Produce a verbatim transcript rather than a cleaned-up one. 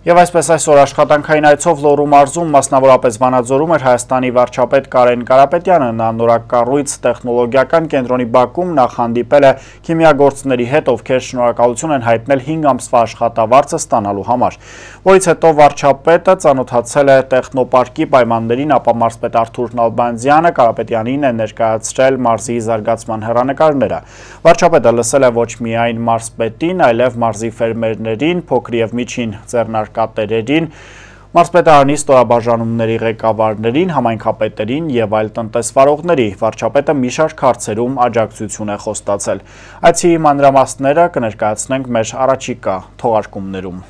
Եվ այսպես այսօր աշխատանքային այցով Լոռու մարզում, մասնավորապես Վանաձորում էր Հայաստանի վարչապետ Կարեն Կարապետյանը, նա նորակառույց տեխնոլոգիական կենտրոնի բակում նախհանդիպել է քիմիագործների հետ, ովքեր շնորհակալություն են հայտնել հինգ ամսվա աշխատավարձը ստանալու համար, որից հետո վարչապետը ծանոթացել է տեխնոպարկի պայմաններին, ապա մարզպետ Արթուր Նալբանդյանը Կարապետյանին է ներկայացրել մարզի զարգացման հեռանկարները։ Վարչապետը լսել է ոչ միայն մարզպետին, այլև մարզի ֆերմերներին, փոքր և միջին ձեռնարկատերերին, մարզպետարանի ստորաբաժանումների ղեկավարներին, համայնքապետերին և այլ տնտեսվարողների։ Վարչապետը մի շարք հարցերում աջակցություն է խոստացել։ Այցի մանրամասները կներկայացնենք մեր առաջիկա թողարկումներում։